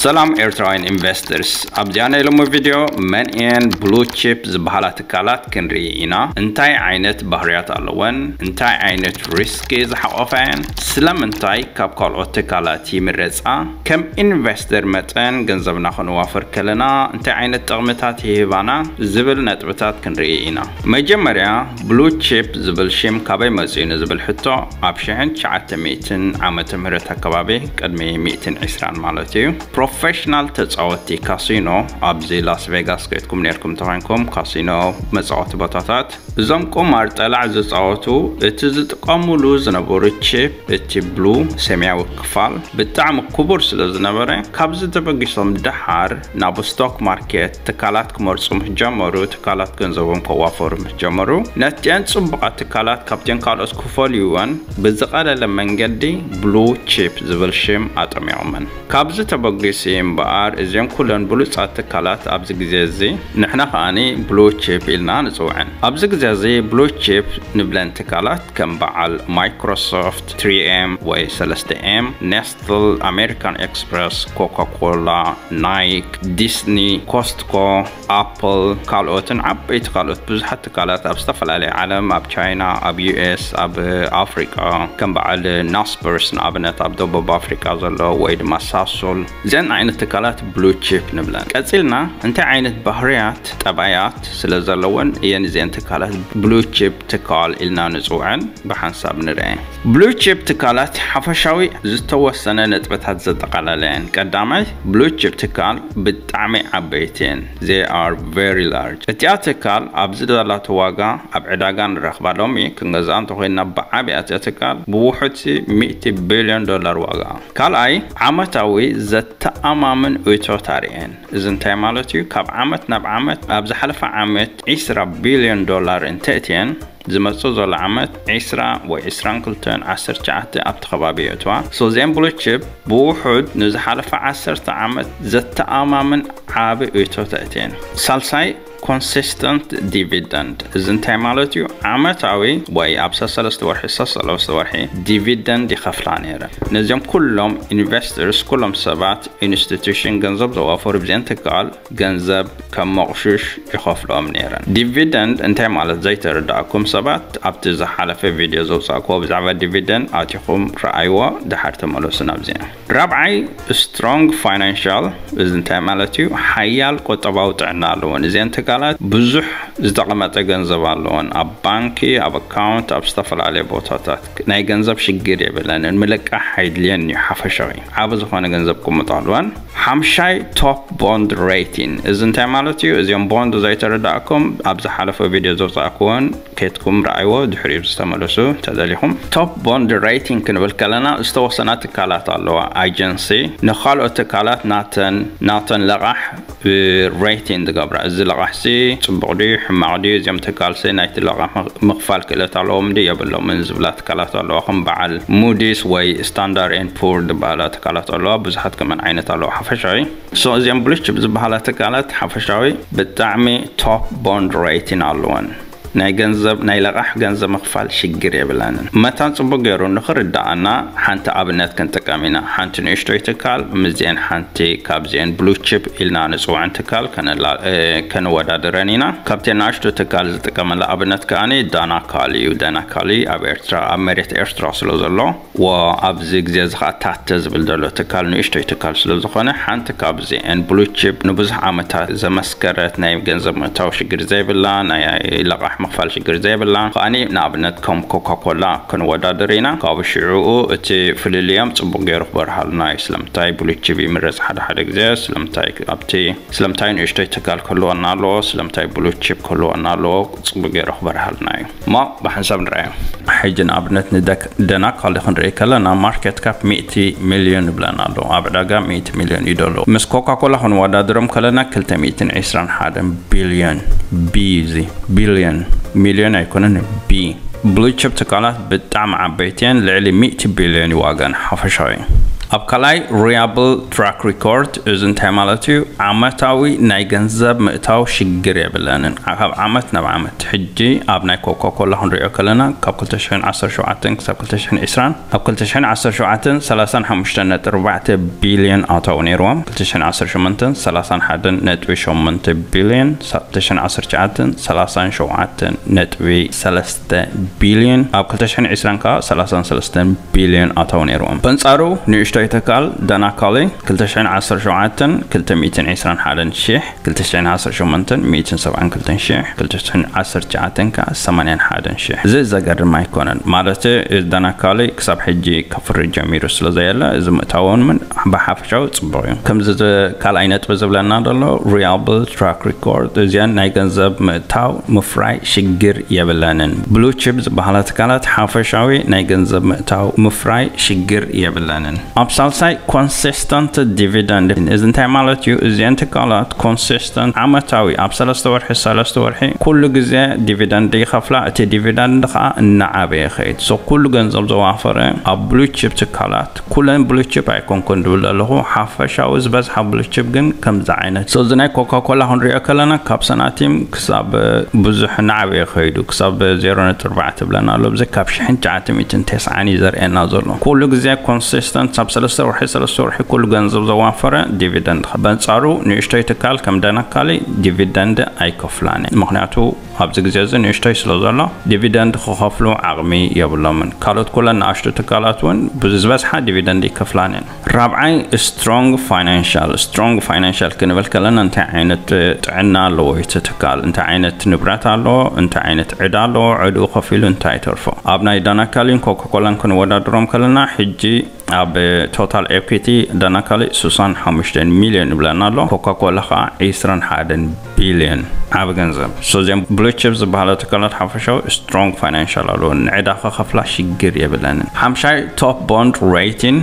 ሰላም ኤርትራውያን ኢንቨስተርስ፣ ኣብዚኣ ናይ ሎሚ ቪድዮ መን እየን ብሉ ቺፕ ዝበሃላ ትካላት ክንርኢ ኢና። እንታይ ዓይነት ባህርያት ኣለወን? እንታይ ዓይነት ሪስክ ዝሓቆፋ እየን? ስለምንታይ ካብ ካልኦት ትካላት ይምረጻ? ከም ኢንቨስተር መጠን ገንዘብና ከነዋፍር ከለና እንታይ ዓይነት ጥቕምታት ይህባና? ዝብል ነጥብታት ክንርኢ ኢና። መጀመርያ ብሉ ቺፕ ዝብል ሽም ካበይ መጺኡ ንዝብል ሕቶ፣ ኣብ ሽሕን ትሽዓተ ሚእትን ዓመተ ምህረት ኣከባቢ፣ ቅድሚ ሚእትን ዕስራን ማለት እዩ፣ ፕሮፌሽናል ተጻወትቲ ካሲኖ ኣብዚ ላስ ቬጋስ ከይድኩም ነርኩም ተኾይንኩም፣ ካሲኖ መጻወቲ ቦታታት፣ እዞም ቁማር ጠላዕ ዝጻወቱ እቲ ዝጥቀሙሉ ዝነበሩ ቺፕ፣ እቲ ብሉ ሰማያዊ ክፋል ብጣዕሚ ክቡር ስለ ዝነበረ፣ ካብዚ ተበጊሶም ደሓር ናብ ስቶክ ማርኬት ትካላት ክመርጹ ምስ ጀመሩ፣ ትካላት ገንዘቦም ከዋፈሩ ምስ ጀመሩ፣ ነቲአን ጽቡቓት ትካላት ካብተን ካልኦት ክፈልዩወን ብዝቐለለ መንገዲ ብሉ ቺፕ ዝብል ሽም ኣጠሚቖመን። ካብዚ ተበጊሱ እምበኣር፣ እዚኦም ኩለን ብሉጻት ትካላት ኣብዚ ግዜ እዚ ንሕና ከኣኒ ብሉ ቺፕ ኢልና ንጽውዐን። ኣብዚ ግዜ እዚ ብሉ ቺፕ ንብለን ትካላት ከም በዓል ማይክሮሶፍት፣ ትሪ ኤም ወይ ሰለስተ ኤም፣ ኔስትል፣ ኣሜሪካን ኤክስፕረስ፣ ኮካ ኮላ፣ ናይክ፣ ዲስኒ፣ ኮስትኮ፣ ኣፕል፣ ካልኦትን ዓበይቲ ካልኦት ብዙሓት ትካላት ኣብ ዝተፈላለየ ዓለም፣ ኣብ ቻይና፣ ኣብ ዩ ኤስ፣ ኣብ ኣፍሪቃ፣ ከም በዓል ናስፐርስ ንኣብነት ኣብ ደቡብ ኣፍሪቃ ዘሎ፣ ወይ ድማ ሳሶል፣ እዘን ዓይነት ትካላት ብሉ ቺፕ ንብለን። ቀጺልና እንታይ ዓይነት ባህርያት፣ ጠባያት ስለ ዘለወን እየን እዘን ትካላት ብሉ ቺፕ ትካል ኢልና ንጽውዐን? ብሓንሳብ ንርአ። ብሉ ቺፕ ትካላት ሓፈሻዊ ዝተወሰነ ነጥብታት ዘጠቓለለ እየን። ቀዳማይ፣ ብሉ ቺፕ ትካል ብጣዕሚ ዓበይቲ እየን። They are very large። እቲኣ ትካል ኣብዚ ዘላቶ ዋጋ ኣብ ዕዳጋ ንረኽባ ሎሚ ክንገዝኣ እንተኾይንና ብዓብያ እቲኣ ትካል ብውሑድሲ ሚእቲ ቢልዮን ዶላር ዋጋ። ካልኣይ፣ ዓመታዊ ዘተኣማምን እቶት ኣርእየን። እዚ እንታይ ማለት እዩ? ካብ ዓመት ናብ ዓመት፣ ኣብ ዝሓለፈ ዓመት ዒስራ ቢልዮን ዶላር እንተእትየን፣ ዝመጽእ ዘሎ ዓመት ዒስራ ወይ ዒስራን ክልተን ዓሰርተ ትሽዓተ ኣብቲ ከባቢ የእትዋ። So እዚአን ብሉ ቺፕ ብውሑድ ንዝሓለፈ ዓሰርተ ዓመት ዘተኣማምን ዓቢ እቶ ተእትየን። ሳልሳይ፣ ኮንሲስተንት ዲቪደንድ። እዚ እንታይ ማለት እዩ? ዓመታዊ ወይ ኣብ ሰሰለስተ ወርሒ፣ ሰሰለስተ ወርሒ ዲቪደንድ ይኸፍላ ነይረን። ነዚኦም ኩሎም ኢንቨስተርስ፣ ኩሎም ሰባት፣ ኢንስቲቱሽን፣ ገንዘብ ዘዋፈሩ ብዚአን ትካል ገንዘብ ከም መቑሽሽ ይኸፍልኦም ነይረን። ዲቪደንድ እንታይ ማለት ዘይተረዳእኩም ሰባት፣ ኣብቲ ዝሓለፈ ቪድዮ ዘውፃእክዎ ብዛዕባ ዲቪደንድ ኣቲኹም ረኣይዎ፣ ድሓር ተመለሱ ናብዚአን። ራብዓይ፣ ስትሮንግ ፋይናንሻል። እዚ እንታይ ማለት እዩ? ሓያል ቁጠባዊ ጥዕና ኣለወን። እዚአን ትካላት ብዙሕ ዝተቐመጠ ገንዘብ ኣለወን። ኣብ ባንኪ፣ ኣብ ኣካውንት፣ ኣብ ዝተፈላለየ ቦታታት ናይ ገንዘብ ሽግር የብለንን። ምልቃሕ ኣይድልየን እዩ። ሓፈሻዊ ዓቢ ዝኾነ ገንዘብ ክቕምጡ ኣለወን። ሓምሻይ፣ ቶፕ ቦንድ ሬቲን። እዚ እንታይ ማለት እዩ? እዚኦም ቦንድ ዘይተረዳእኩም ኣብ ዝሓለፈ ቪድዮ ዘውፃእክዎን ከይድኩም ረኣይዎ፣ ድሕሪኡ ዝተመለሱ ተደሊኹም። ቶፕ ቦንድ ሬቲን ክንብል ከለና ዝተወሰና ትካላት ኣለዋ፣ ኣጀንሲ፣ ንኻልኦት ትካላት ናተን ናተን ለቓሕ ሬቲን ዝገብራ። እዚ ለቓሕሲ ጽቡቕ ድዩ ሕማቕ ድዩ፣ እዚኦም ትካልሲ ናይቲ ለቓሕ ምኽ- ምኽፋል ክእለት ኣለዎም ድዩ የብሎምን ዝብላ ትካላት ኣለዋ። ከም በዓል ሙዲስ ወይ ስታንዳርድ ኤንድ ፑር ዝበሃላ ትካላት ኣለዋ። ብዙሓት ከመን ዓይነት ኣለዋ። ሓፈሻዊ ሶ እዚኦም ብሉ ቺፕ ዝበሃላ ትካላት ሓፈሻዊ ብጣዕሚ ቶፕ ቦንድ ሬቲን ኣለወን። ናይ ገንዘብ ናይ ለቓሕ ገንዘብ ምኽፋል ሽግር የብላንን። መታን ጽቡቅ ገይሩ ንኽርዳኣና ሓንቲ ኣብነት ክንጥቀም ኢና። ሓንቲ ንእሽቶይ ትካል ምስዚአን ሓንቲ ካብዚአን ብሉ ቺፕ ኢልና ንጽውዐን ትካል ከነላ- እ፣ ከነወዳድረን ኢና። ካብቲ ንእሽቶ ትካል ዝጥቀመላ ኣብነት ከኣኒ ዳና ካል እዩ። ዳና ካሊ ኣብ ኤርትራ ኣብ መሬት ኤርትራ ስለ ዘሎ ወ ኣብዚ ግዜ እዚ ኸዓ ታተ ዝብል ዘሎ ትካል ንእሽቶይ ትካል ስለ ዝኾነ ሓንቲ ካብዚአን ብሉ ቺፕ ንብዙሕ ዓመታት ዘመስከረት ናይ ገንዘብ ምእታው ሽግር ዘይብላ ናይ ለቓሕ ምኽፋል ሽግር ዘይብላ ከኣኒ ንኣብነት ከም ኮካ ኮላ ክንወዳደር ኢና። ካብኡ ሽዑኡ እቲ ፍልልዮም ጽቡቕ ገይሩ ክበርሃልና እዩ። ስለምንታይ ብሉ ቺፕ ይምረጽ ሓደ ሓደ ግዜ ስለምንታይ ኣብቲ ስለምንታይ ንእሽቶይ ትካል ክህልወና ኣለዎ ስለምንታይ ብሉ ቺፕ ክህልወና ኣለዎ ጽቡቕ ገይሩ ክበርሃልና እዩ። እሞ ብሓንሳብ ንርኣዮ። ሕጂ ንኣብነት ንደክ- ደናካሊ ክንርኢ ከለና ማርኬት ካፕ ሚእቲ ሚልዮን ይብለና ኣሎ። ኣብ ዕዳጋ ሚእቲ ሚልዮን እዩ ዘሎ። ምስ ኮካ ኮላ ክንወዳድሮም ከለና ክልተ ሚእትን ዕስራን ሓደን ቢልዮን፣ ቢ እዚ ቢልዮን፣ ሚልዮን ኣይኮነን፣ ቢ። ብሉ ቺፕ ትካላት ብጣዕሚ ዓበይቲ እየን፣ ልዕሊ ሚእቲ ቢልዮን እዩ ዋጋን ሓፈሻዊ። ኣብ ካልኣይ፣ ሪያብል ትራክ ሪኮርድ። እዚ እንታይ ማለት እዩ? ዓመታዊ ናይ ገንዘብ ምእታው ሽግር የብለንን። ካብ ዓመት ናብ ዓመት፣ ሕጂ ኣብ ናይ ኮካኮላ ክንሪኦ ከለና፣ ካብ ክልተ ሽሕን ዓሰርተ ሸውዓተን ክሳብ ክልተ ሽሕን ዕስራን፣ ኣብ ክልተ ሽሕን ዓሰርተ ሸውዓተን ሰላሳን ሓሙሽተን ነጥቢ ኣርባዕተ ቢልዮን ኣታዊ ነይርዎም። ክልተ ሽሕን ዓሰርተ ሸሞንተን ሰላሳን ሓደን ነጥቢ ሸሞንተ ቢልዮን፣ ክልተ ሽሕን ዓሰርተ ትሽዓተን ሰላሳን ሸውዓተን ነጥቢ ሰለስተ ቢልዮን፣ ኣብ ክልተ ሽሕን ዕስራን ከዓ ሰላሳን ሰለስተን ቢልዮን ኣታዊ ነይርዎም። በንጻሩ ንእሽቶይ ትካል ዳናካሊ፣ ክልተ ሽሕን ዓሰርተ ሸውዓተን ክልተ ሚእትን ዕስራን ሓደን ሽሕ፣ ክልተ ሽሕን ዓሰርተ ሸሞንተን ሚእትን ሰብዓን ክልተን ሽሕ፣ ክልተ ሽሕን ዓሰርተ ትሽዓተን ከዓ ሰማንያን ሓደን ሽሕ። እዚ ዘገርም ኣይኮነን። ማለት፣ ዳናካሊ ክሳብ ሕጂ ከፍሪ ጀሚሩ ስለ ዘየለ፣ እዚ ምእታውን ምን ብሓፈሻዊ ጽቡቕ እዩ። ከምዚ ዝ-፣ ካልኣይ ነጥቢ ዝብለና ዘሎ፣ ሪያብል ትራክ ሪኮርድ፣ እዚኣን ናይ ገንዘብ ምእታው ምፍራይ ሽግር የብለንን። ብሉ ቺፕ ዝበሃላ ትካላት ሓፈሻዊ ናይ ገንዘብ ምእታው ምፍራይ ሽግር የብለንን። ኣብ ሳልሳይ፣ ኮንሲስተንት ዲቪደንድ። እዚ እንታይ ማለት እዩ? እዚአን ትካላት ኮንሲስተንት፣ ዓመታዊ፣ ኣብ ሰለስተ ወርሒ፣ ሰለስተ ወርሒ፣ ኩሉ ግዜ ዲቪደንድ ይኸፍላ። እቲ ዲቪደንድ ከዓ እናዓበየ ይኸይድ። ሶ ኩሉ ገንዘብ ዘዋፈረ ኣብ ብሉ ቺፕ ትካላት፣ ኩለን ብሉ ቺፕ ኣይኮንኩን ድብል ኣለኹ፣ ሓፈሻዊ ዝበዝሓ ብሉ ቺፕ ግን ከምዚ ዓይነት። ሶ እዚ ናይ ኮካኮላ ክንሪኦ ከለና፣ ካብ ሰናቲም ክሳብ ብዙሕ እናዓበየ ይኸይዱ፣ ክሳብ ዜሮ ነጥቢ ኣርባዕተ ትብለና ኣሎ። ብዚ ካብ ሽሕን ትሽዓተ ሚእትን ተስዓን እዩ ዘርእየና ዘሎ። ኩሉ ግዜ ኮንሲስተንት፣ ኣብ ሰለስተ ወርሒ፣ ሰለስተ ወርሒ ኩሉ ገንዘብ ዘዋፈረ ዲቪደንድ። በንጻሩ ንእሽቶይ ትካል ከም ዳናካሊ ዲቪደንድ ኣይከፍላን። ምኽንያቱ ኣብዚ ግዜ እዚ ንእሽቶይ ስለ ዘሎ፣ ዲቪደንድ ክኸፍሉ ዓቕሚ የብሎምን። ካልኦት ኩለን ንኣሽቱ ትካላት እውን ብዝበዝሓ ዲቪደንድ ይከፍላን እየን። ራብዓይ፣ ስትሮንግ ፋይናንሻል። ስትሮንግ ፋይናንሻል ክንብል ከለና፣ እንታይ ዓይነት ጥዕና ኣለዎ እቲ ትካል? እንታይ ዓይነት ንብረት ኣለዎ? እንታይ ዓይነት ዕዳ ኣለዎ? ዕድኡ ከፊሉ እንታይ ይተርፎ? ኣብ ናይ ዳናካሊን ኮካኮላን ክንወዳድሮም ከለና፣ ሕጂ ኣብ ቶታል ኤኩቲ ዳናካሊ ስሳን ሓሙሽተን ሚልዮን ይብለና ኣሎ። ኮካኮላ ከዓ ዕስራን ሓደን ቢልዮን። ዓቢ ገንዘብ። ሶ እዚኦም ብሉ ቺፕ ዝበሃላ ትካላት ሓፈሻዊ ስትሮንግ ፋይናንሻል ኣለዎ። ንዕዳ ከኸፍላ ሽግር የብለንን። ሓምሻይ፣ ቶፕ ቦንድ ሬቲን።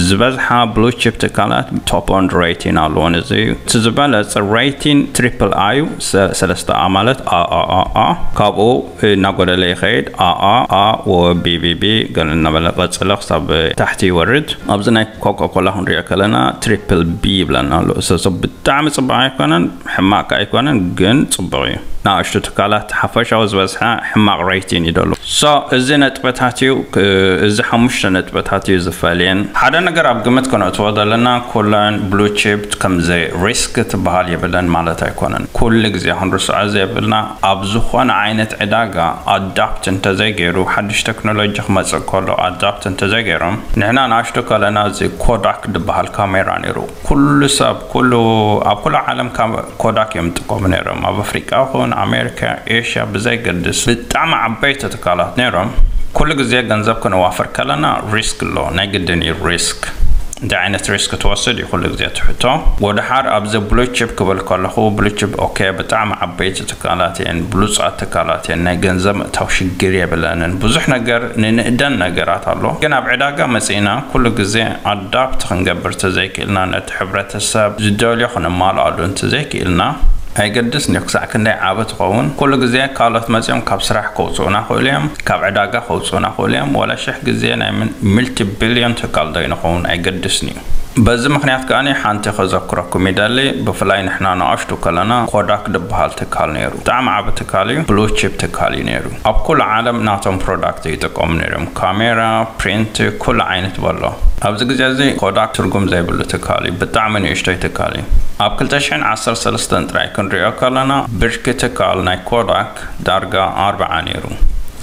ዝበዝሓ ብሉ ቺፕ ትካላት ቶፕ ቦንድ ሬቲን ኣለዎን። እዚ እዩ። እቲ ዝበለጸ ሬቲን ትሪፕል ኣይ እዩ። ሰ-፣ ሰለስተ ኣ ማለት ኣ፣ ኣ፣ ኣ፣ ኣ። ካብኡ እናጎደለ ይኸይድ። ኣ፣ ኣ፣ ኣ፣ ወ፣ ቢ፣ ቢ፣ ቢ፣ ገለ እናበለ ቀጽለ ክሳብ ታሕቲ ይወርድ። ኣብዚ ናይ ኮካኮላ ክንሪኦ ከለና ትሪፕል ቢ ይብለና ኣሎ። ሶ፣ ሶ ብጣዕሚ ጽቡቕ ኣይኮነን፣ ሕማቕ ከኣ ኣይኮነን፣ ግን ጽቡቕ እዩ። ንኣሽቱ ትካላት ሓፈሻዊ ዝበዝሓ ሕማቕ ሬቲን እዩ ደሎ። ሶ፣ እዚ ነጥብታት እዩ፣ ክ-፣ እዚ ሓሙሽተ ነጥብታት እዩ ዝፈልየን። ሓደ ነገር ኣብ ግምት ከነእትዎ ዘለና፣ ኩለን ብሉ ቺፕ ከምዚ ሪስክ ትበሃል የብለን ማለት ኣይኮነን። ኩሉ ግዜ ክንርስዖ ዘየብልና፣ ኣብ ዝኾነ ዓይነት ዕዳጋ ኣዳፕት እንተዘይገይሩ፣ ሓድሽ ቴክኖሎጂ ክመጽእ ከሎ ኣዳፕት እንተዘይገይሮም፣ ንሕና ንኣሽቱ ከለና እዚ ኮዳክ ዝበሃል ካሜራ ነይሩ። ኩሉ ሰብ፣ ኩሉ፣ ኣብ ኩሉ ዓለም ካብ ኮዳክ እዮም ዝጥቀሙ ነይሮም። ኣብ ኣፍሪቃ ይኹን ኣሜሪካ፣ ኤሽያ ብዘይገድስ ብጣዕሚ ዓበይቲ ትካላት ነይሮም። ኩሉ ግዜ ገንዘብ ክነዋፍር ከለና ሪስክ ኣሎ፣ ናይ ግድን እዩ ሪስክ። እንታይ ዓይነት ሪስክ ትወስድ እዩ ኩሉ ግዜ ትሕቶ። ወደሓር ኣብዚ ብሉ ቺፕ ክብል ከለኹ፣ ብሉ ቺፕ ኦኬ፣ ብጣዕሚ ዓበይቲ ትካላት እየን፣ ብሉጻት ትካላት እየን፣ ናይ ገንዘብ ምእታው ሽግር የብለንን፣ ብዙሕ ነገር ንንእደን ነገራት ኣሎ። ግን ኣብ ዕዳጋ መጺእና ኩሉ ግዜ ኣዳፕት ክንገብር ተዘይክእልና፣ ነቲ ሕብረተሰብ ዝደልዮ ክነማልኣሉ እንተዘይክእልና፣ ኣይገድስን እዩ ክሳዕ ክንደይ ዓቢ ትኸውን። ኩሉ ግዜ ካልኦት መጺኦም ካብ ስራሕ ከውጽኡና ክእሉ እዮም፣ ካብ ዕዳጋ ከውጽኡና ክእሉ እዮም። ወላ ሽሕ ግዜ ናይ ምን-፣ ሚልቲ ቢልዮን ትካል ዶ ይንኸውን ኣይገድስን እዩ። በዚ ምኽንያት ከኣ ሓንቲ ከዘክረኩም ይደሊ፣ ብፍላይ ንሕና ንኣሽቱ ከለና ኮዳክ ዝበሃል ትካል ነይሩ። ብጣዕሚ ዓቢ ትካል እዩ፣ ብሉ ቺፕ ትካል እዩ ነይሩ። ኣብ ኩሉ ዓለም ናቶም ፕሮዳክት ይጥቀሙ ነይሮም። ካሜራ፣ ፕሪንት፣ ኩሉ ዓይነት በሎ። ኣብዚ ግዜ እዚ ኮዳክ ትርጉም ዘይብሉ ትካል እዩ፣ ብጣዕሚ ንእሽቶይ ትካል እዩ። ኣብ ክልተ ሽሕን ዓሰርተ ሰለስተን ጥራይ ክንሪኦ ከለና ብርኪ ትካል ናይ ኮዳክ ዳርጋ ኣርብዓ ነይሩ።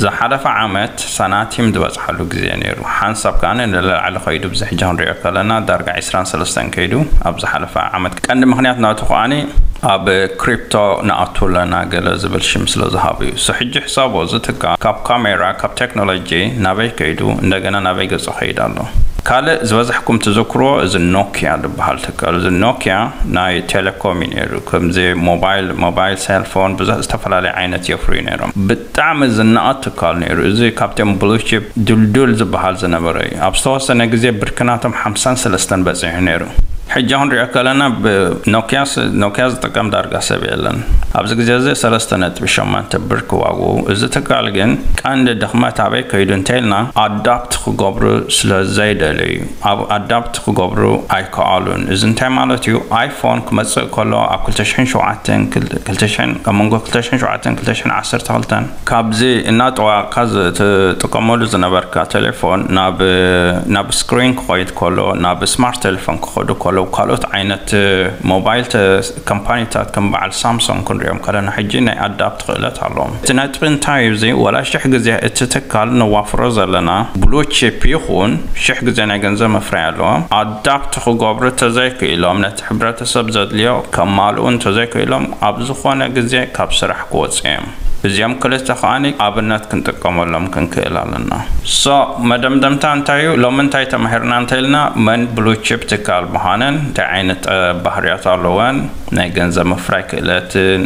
ዝሓለፈ ዓመት ሳናቲም ዝበጽሓሉ ግዜ ነይሩ። ሓንሳብ ከኣ ንላዕሊ ከይዱ፣ ብዚ ሕጂ ክንሪኦ ከለና ዳርጋ ዕስራን ሰለስተን ከይዱ ኣብ ዝሓለፈ ዓመት። ቀንዲ ምኽንያት ናቱ ከኣ ኣብ ክሪፕቶ ንኣቱ ኣለና ገለ ዝብል ሽም ስለ ዝሃቡ እዩ። ሶ ሕጂ ሕሳቦ፣ እዚ ትካል ካብ ካሜራ፣ ካብ ቴክኖሎጂ ናበይ ከይዱ፣ እንደገና ናበይ ገጹ ከይድ ኣሎ? ካልእ ዝበዝሕኩም ትዝክርዎ እዚ ኖኪያ ዝበሃል ትካል። እዚ ኖኪያ ናይ ቴሌኮም እዩ ነይሩ። ከምዚ ሞባይል፣ ሞባይል ሴልፎን፣ ብዙሕ ዝተፈላለየ ዓይነት የፍርዩ ነይሮም። ብጣዕሚ ዝነኣድ ትካል ነይሩ። እዚ ካብቶም ብሉ ቺፕ ድልዱል ዝበሃል ዝነበረ እዩ። ኣብ ዝተወሰነ ግዜ ብርኪ ናቶም ሓምሳን ሰለስተን በጺሑ ነይሩ። ሕጂ ክንሪኦ ከለና ብኖኪያስ ኖኪያ ዝጥቀም ዳርጋ ሰብ የለን። ኣብዚ ግዜ እዚ ሰለስተ ነጥቢ ሸማንተ ብር ክዋጉ፣ እዚ ትካል ግን ቀንዲ ድኽመት ኣበይ ከይዱ እንተኢልና ኣዳፕት ክገብሩ ስለ ዘይደለዩ ኣብ ኣዳፕት ክገብሩ ኣይከኣሉን። እዚ እንታይ ማለት እዩ? ኣይፎን ክመጽእ ከሎ ኣብ ክልተ ሽሕን ሸውዓተን ክል- ክልተ ሽሕን ኣብ መንጎ ክልተ ሽሕን ሸውዓተን ክልተ ሽሕን ዓሰርተ ክልተን ካብዚ እናጠዋቕካ ዝትጥቀመሉ ዝነበርካ ቴሌፎን ናብ ናብ ስክሪን ክኸይድ ከሎ ናብ ስማርት ቴሌፎን ክኸዱ ከሎ ካልኦት ዓይነት ሞባይል ተ- ካምፓኒታት ከም በዓል ሳምሶንግ ክንሪኦም ከለና ሕጂ ናይ ኣዳፕት ክእለት ኣለዎም። እቲ ነጥቢ እንታይ እዩ? እዚ ወላ ሽሕ ግዜ እቲ ትካል ነዋፍሮ ዘለና ብሉ ቺፕ ይኹን ሽሕ ግዜ ናይ ገንዘብ መፍረይ ኣለዎም ኣዳፕት ክገብሩ ተዘይክኢሎም ነቲ ሕብረተሰብ ዘድልዮ ከማልኡ እንተዘይክኢሎም ኣብ ዝኾነ ግዜ ካብ ስራሕ ክወፁ እዮም። እዚኦም ክልተ ከዓኒ ኣብነት ክንጥቀመሎም ክንክእል ኣለና። ሶ መደምደምታ እንታይ እዩ? ሎሚ እንታይ ተማሂርና እንተኢልና መን ብሉ ቺፕ ትካል ምዃነን እንታይ ዓይነት ጠ- ባህርያት ኣለወን ናይ ገንዘብ ምፍራይ ክእለትን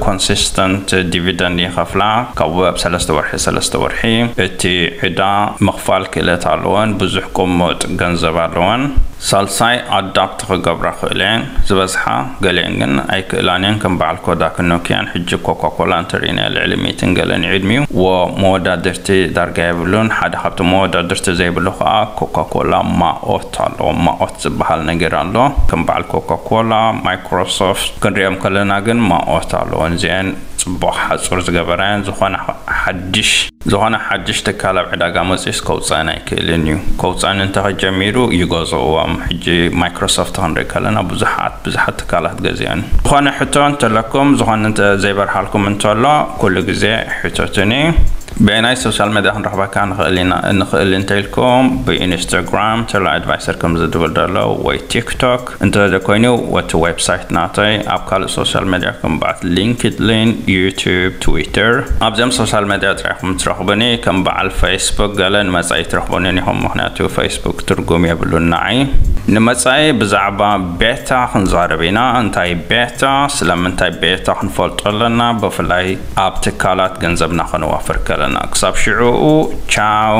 ኮንሲስተንት ዲቪደንድ ይኸፍላ ካብ ወብ ሰለስተ ወርሒ ሰለስተ ወርሒ እቲ ዕዳ ምኽፋል ክእለት ኣለወን ብዙሕ ቅሙጥ ገንዘብ ኣለወን። ሳልሳይ ኣዳፕት ክገብራ ክእለን ዝበዝሓ ገሊአን ግን ኣይክእላን እየን ከም በዓል ኮዳክ ኖኪያን ሕጂ ኮካኮላ እንተሪእና ልዕሊ ሚእትን ገለን ዕድሚኡ ወ መወዳድርቲ ዳርጋ የብሉን ሓደ ካብቲ መወዳድርቲ ዘይብሉ ከዓ ኮካኮላ ማኦት ኣለዎ ማኦት ዝበሃል ነገር ኣሎ ከም በዓል ኮካኮላ ማይክሮሶፍት ክንሪኦም ከለና ግን ማኦት ኣለዎ እዚአን ጽቡቕ ሓጹር ዝገበራያን ዝኾነ ሓድሽ ዝኾነ ሓድሽ ትካል ኣብ ዕዳጋ መጺስ ከውፀን ኣይክእልን እዩ ከውፀን እንተኸጀሚሩ ይገዝእዎም ሕጂ ማይክሮሶፍት ክንርኢ ከለና ብዙሓት ብዙሓት ትካላት ገዚአን ዝኾነ ሕቶ እንተለኩም ዝኾነ እንተ ዘይበርሃልኩም እንተሎ ኩሉ ግዜ ሕቶትኒ ብናይ ሶሻል ሜድያ ክንረኽበካ ንኽእል እንተኢልኩም ብኢንስታግራም ተላ ኣድቫይሰር ከም ዝድብል ዘሎ ወይ ቲክቶክ እንተዘይኮይኑ ወቲ ዌብሳይት ናተይ ኣብ ካልእ ሶሻል ሜድያ ከም በዓል ሊንክድሊን ዩቱብ ትዊተር ኣብዚኦም ሶሻል ሜድያ ጥራይኹም ትረኽቡኒ ከም በዓል ፌስቡክ ገለ ንመጻኢ ትረኽቡኒ ኢኹም ምክንያቱ ፌስቡክ ትርጉም የብሉን ንዓይ ንመጻኢ ብዛዕባ ቤታ ክንዛረብ ኢና እንታይ ቤታ ስለምንታይ ቤታ ክንፈልጦ ኣለና ብፍላይ ኣብ ትካላት ገንዘብና ከነዋፍር ከለና ክሳብ ሽዑኡ ቻው